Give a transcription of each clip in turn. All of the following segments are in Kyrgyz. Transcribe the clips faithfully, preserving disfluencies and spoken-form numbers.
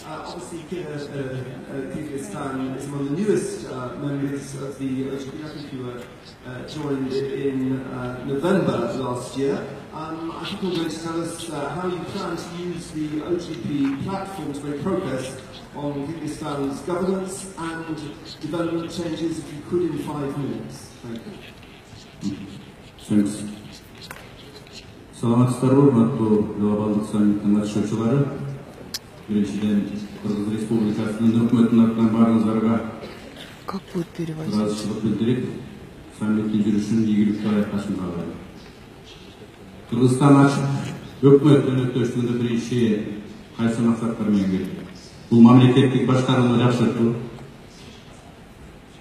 Uh, obviously, Kyrgyzstan is among the newest uh, members of the O G P. I think you were uh, joined in uh, November last year. Um, I think you're going to tell us uh, how you plan to use the O G P platform to make progress on Kyrgyzstan's governance and development changes, if you could, in five minutes. Thank you. Thanks. Саламатсыздарбы, урматтуу глобалдык саммиттин катышуучулары. Биринчиден, Кыргыз Республикасынын өкмөтүнүн атынан баарыңыздарга ыраазычылык билдирип, саммиттин жүрүшүн ийгиликтүү аякташын каалайм. Кыргызстан ачык өкмөт өнөктөштүгүндө биринчи кайсы максаттар менен келди? Бул мамлекеттик башкарууну жакшыртуу,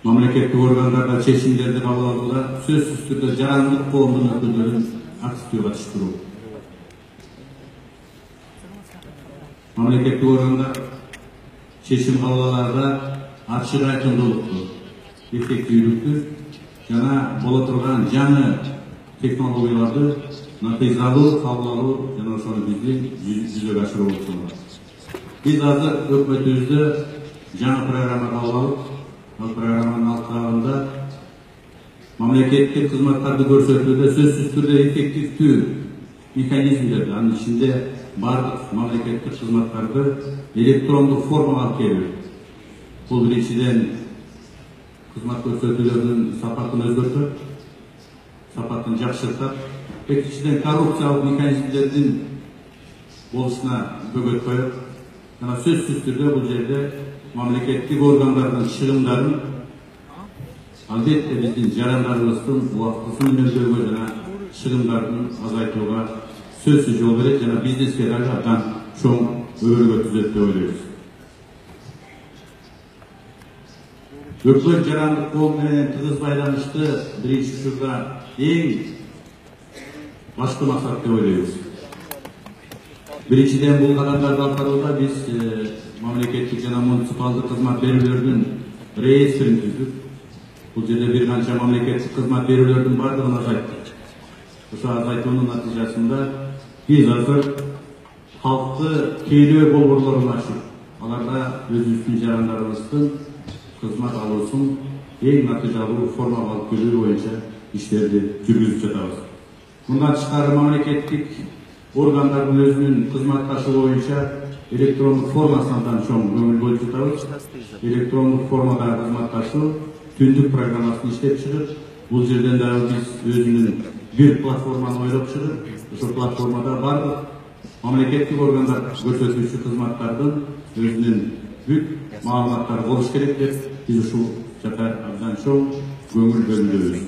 мамлекеттик органдарда чечимдерди кабыл алууда сөзсүз түрдө жарандык коомдун өкүлдөрүн активдүү катыштыруу. Мамлекеттик органдар чечим кабыл алаарда ачык айкындуулукту, эффективдүүлүктү жана боло турган жаңы технологияларды натыйжалуу кабыл алуу жана ошону биздин жүзөгө ашыруу болуп саналат. Биз азыр өкмөтүбүздө жаңы программа кабыл алып, ал программанын алкагында мамлекеттик кызматтарды көрсөтүүдө сөзсүз түрдө эффективдүү механизмдерди, анын ичинде бардык мамлекеттик кызматтарды электрондук формага алып келүү. Бул биринчиден кызмат көрсөтүүлөрдүн сапатын өзгөртөт, сапатын жакшыртат. Экинчиден, коррупциялык механизмдердин болушуна бөгөт коет. Жана сөзсүз түрдө бул жерде мамлекеттик органдардын чыгымдарын албетте биздин жарандарыбыздын убактысын үнөмдөөгө жана чыгымдарын азайтууга сөзсүз жол берет жана бизнеске дагы абдан чоң өбөлгө түзөт деп ойлойбуз. Өкмөт жарандык коом менен тыгыз байланышты биринчи учурда эң башкы максат деп ойлойбуз. Биринчиден, бул кадамдарды аткарууда биз мамлекеттик жана муниципалдык кызмат берүүлөрдүн реестрин түздүк. Бул жерде бир канча мамлекеттик кызмат берүүлөрдүн бардыгын азайттык. Ошо азайтуунун натыйжасында биз азыр халкты тейлөө болборлорун ачып, аларда өзүбүздүн жарандарыбыздын кызмат алуусун эң натыйжалуу формага алып келүү боюнча иштерди жүргүзүп жатабыз. Мындан тышкары мамлекеттик органдардын өзүнүн кызматташы боюнча электрондук формасына абдан чоң көңүл бөлүп жатабыз. Электрондук формада кызматташуу түндүк программасын иштеп чыгып, бул жерден дагы биз өзүнүн бир платформаны ойлоп чыгып, ошол платформада бардык мамлекеттик органдар көрсөтүүчү кызматтардын өзүнүн бүт маалыматтары болуш керек деп биз ушул жака абдан чоң көңүл бөлүнөбүз.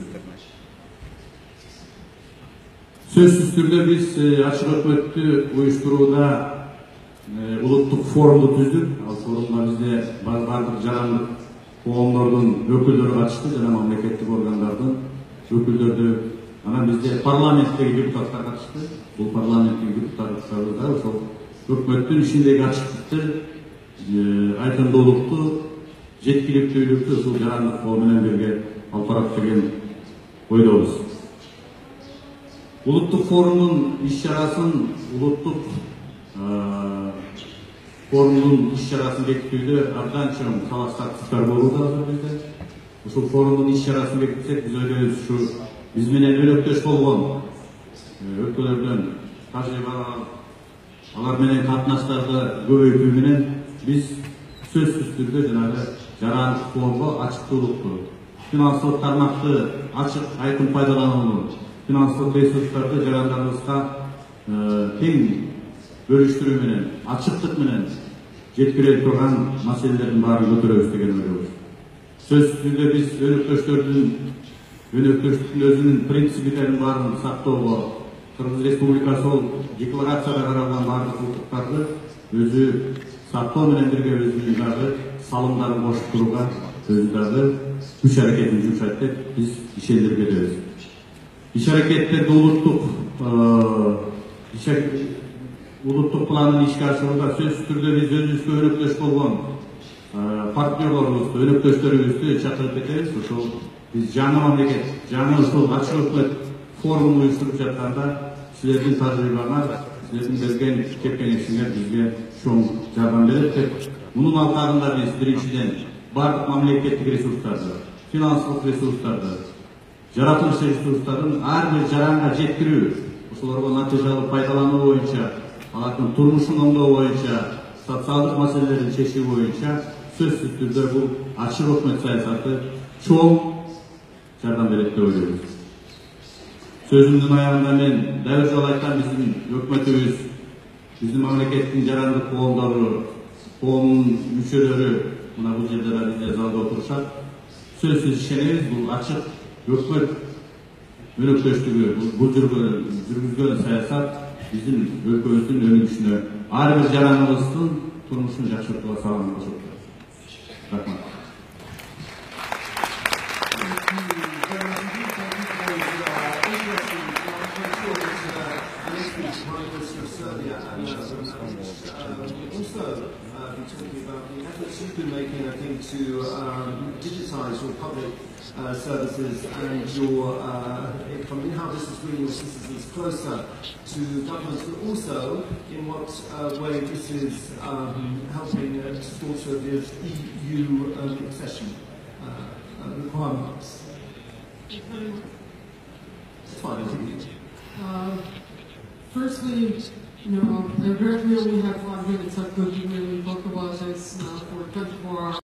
Сөзсүз түрдө биз ачык өкмөттү уюштурууда улуттук форумду түздүк. Ал форумга бизде бардык жарандык коомдордун өкүлдөрү катышты жана мамлекеттик органдардын өкүлдөрү. Анан бизде парламенттеги депутаттар катышты. Бул парламенттин депутаттары да ошол өкмөттүн ишиндеги ачыктыкты, айкындуулукту, жеткиликтүүлүктү ушул жарандык коом менен бирге алып барат деген ойдобуз. Улуттук форумдун иш-чарасын, улуттук форумдун иш-чарасын бекитүүдө абдан чоң талаш тартыштар болууда азыр бизде. Ушул форумдун иш-чарасын бекитсек, биз ойлойбуз ушу биз менен өнөктөш болгон өлкөлөрдөн тажрыйба алып, алар менен катнаштарды көбөйтүү менен биз сөзсүз түрдө жанагы жарандык коомго ачыктуулукту, финансылык тармакты ачык, айкын пайдаланууну, финансылык ресурстарды жарандарыбызга тең бөлүштүрүү менен, ачыктык менен жеткире турган маселелердин баарын көтөрөбүз деген ойдобуз. Сөзсүз түрдө биз өнөктөштөрдүн өнөктөштүктүн өзүнүн принциптерин баарын сактоого, Кыргыз Республикасы ол декларацияда каралган бардык укуктарды өзү сактоо менен бирге өзүнүн дагы салымдарын кошуп турууга өзү дагы күч аракетин жумшайт деп биз ишендирип кетебиз. Иш-аракеттерди улуттук улуттук пландын ишке ашырууда сөзсүз түрдө биз өзүбүзгө өнөктөш болгон партнерлорубузду, өнөктөштөрүбүздү чакырып кетебиз. Ошол биз жаңы мамлекет, жаңы ушул ачык өкмөт форумун уюштуруп жатканда силердин тажрыйбаңар, силердин берген кепкеңишиңер бизге чоң жардам берет деп. Мунун алкагында биз биринчиден бардык мамлекеттик ресурстарды, финансылык ресурстарды, жаратылыш ресурстарын ар бир жаранга жеткирүү, ошолорго натыйжалуу пайдалануу боюнча, алардын турмушун оңдоо боюнча, социалдык маселелерин чечүү боюнча сөзсүз түрдө бул ачык өкмөт саясаты чоң жардам берет деп ойлойбуз. Сөзүмдүн аягында мен дагы жолу айткан, биздин өкмөтүбүз, биздин мамлекеттин жарандык коомдору, коомдун мүчөлөрү мына бул жерде да бизде залда отурушат. Сөзсүз ишенебиз, бул ачык өкмөт өнөктөштүгү, бул жүргүзгөн саясат биздин өлкөбүздүн өнүгүшүнө, ар бир жараныбыздын турмушун жакшыртууга салым кошот. Рахмат. You've been making, I think, to um, digitise your public uh, services and your, uh, I mean, how this is bringing your citizens closer to governments, but also in what uh, way this is um, helping uh, to support Serbia's E U um, accession uh, uh, requirements. It's fine, I think. Uh, firstly, you know, I'm very clear we have five minutes. I could really talk about this uh, for twenty-four hours.